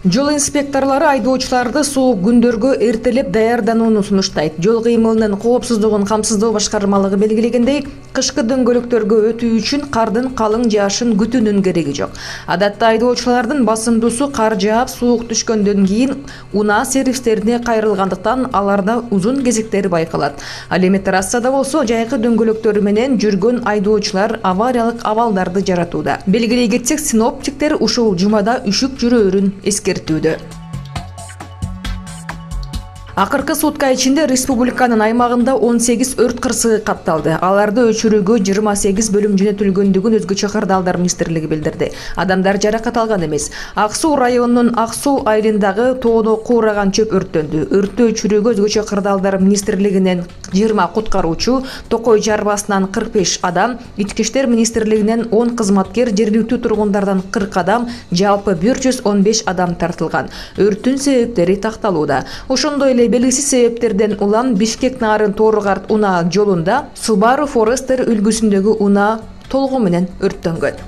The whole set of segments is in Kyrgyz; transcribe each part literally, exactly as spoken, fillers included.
Жол инспекторлары айдоочуларды суук күндөргө эртелеп даярданууну сунуштайт. Жол кыймылынын коопсуздугун камсыздоо башкармалыгы белгилегендей, кышкы дөңгөлөктөргө өтүү үчүн кардын калың жаашын күтүүнүн кереги жок. Адатта айдоочулардын басымдуусу кар жаап, суук түшкөндөн кийин унаа сервистерине кайрылгандыктан аларда узун кезектер байкалат. Ал эми трассада болсо жайкы дөңгөлөктөрү менен жүргөн айдоочулар авариялык абалдарды жаратууда. Белгилей кетсек, синоптиктер ушул жумада үшүк жүрөөрүн эскертүүдө. Акыркы сутка ичинде республиканын аймагында он сегиз өрт кырсыгы катталды. Аларды өчүрүүгө жыйырма сегиз бөлүм жөнөтүлгөндүгүн Өзгө чакырдалдар министрлиги билдирди. Адамдар жаракат алган эмес. Ак Суу районунун Ак Суу айылындагы тоодо куураган чөп өрттөндү. Өрттү өчүрүүгө Өзгө чакырдалдар министрлигинен жыйырма куткаруучу, Токой Жарбасынан кырк беш адам, Ички иштер министрлигинен он кызматкер, жергиликтүү тургундардан кырк адам, жалпы бир жүз он беш адам тартылган. Өрттүн себептери такталууда. Ошондой эле белгисиз себептерден улам Бишкек Нарын Тооругарт унаа жолунда Subaru Forester үлгүсүндөгү унаа толугу менен өрттөнгөн.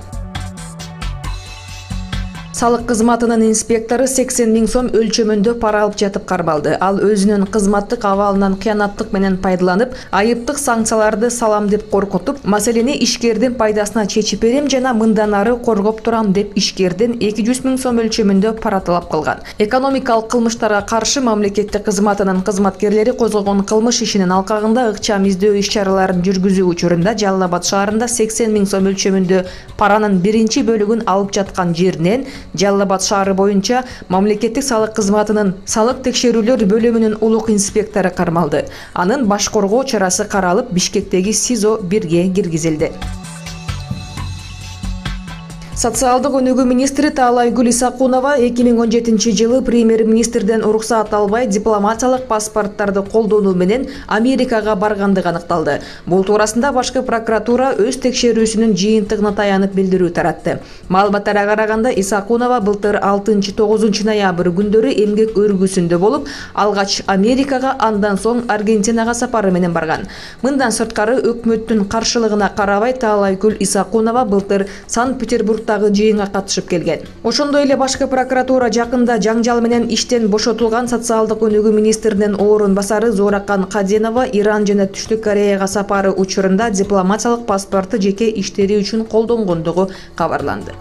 Салык кызматынын инспектору сексен миң сом өлчөмүндө пара алып жатып кармалды. Ал өзүнүн кызматтык абалынан кыянаттык менен пайдаланып, айыптык санкцияларды салам деп коркутуп, маселени ишкердин пайдасына чечип берем жана мындан ары коргоп турам деп ишкердин эки жүз миң сом өлчөмүндө пара талап кылган. Экономикалык кылмыштарга каршы мамлекеттик кызматынын кызматкерлери козгогон кылмыш ишинин алкагында ыкчам издөө иш-чараларын жүргүзүү учурунда Жалал Абад шаарында сексен миң сом өлчөмүндө паранын биринчи бөлүгүн алып жаткан жеринен Жалал Абад шаары боюнча мамлекеттик салык кызматынын салык текшерүүлөр бөлүмүнүн улук инспектору кармалды. Анын баш коргоо чарасы каралып, Бишкектеги СИЗО бирге киргизилди. Социалдык өнүгүү министри Таалайгүл Исакунова эки миң он жетинчи жылы премьер-министрден уруксаат албай дипломатиялык паспорттарды колдонуу менен Америкага баргандыгы аныкталды. Бул туурасында башкы прокуратура өз текшерүүсүнүн жыйынтыгына таянып билдирүү таратты. Маалыматтарга караганда, Исакунова былтыр алтынчы-тогузунчу ноябрь күндөрү эмгек өргүсүндө болуп, алгач Америкага, андан соң Аргентинага сапары менен барган. Мындан сырткары, өкмөттүн каршылыгына карабай Таалайгүл Исакунова былтыр Санкт-Петербург жыйынга катышып келген. Ошондой эле башкы прокуратура жакында жаңжал менен иштен бошотулган социалдык өнүгүү министринин орун басары Зоракан Каденова Иран жана Түштүк Кореяга сапары учурунда дипломатиялык паспорту жеке иштери үчүн колдонгондугу кабарланды.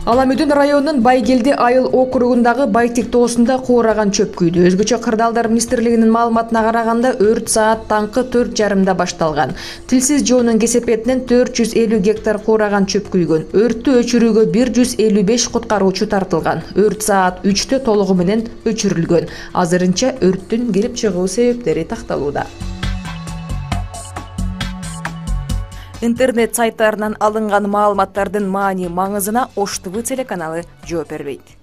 Аламүдүн районунун Байгелди айыл округундагы Байтик тоосунда куураган чөп күйдү. Өзгөчө кырдаалдар министрлигинин маалыматына караганда, өрт саат таңкы төрт жарымда башталган. Тилсиз жоонун кесепетинен төрт жүз элүү гектар куураган чөп күйгөн. Өрттү өчүрүүгө бир жүз элүү беш куткаруучу тартылган. Өрт саат үчтө толугу менен өчүрүлгөн. Азырынча өрттүн келип чыгуу себептери такталууда. Интернет сайттарынан алынган маалыматтардын маани маңызына Ош ТВ телеканалы жооп бербейт.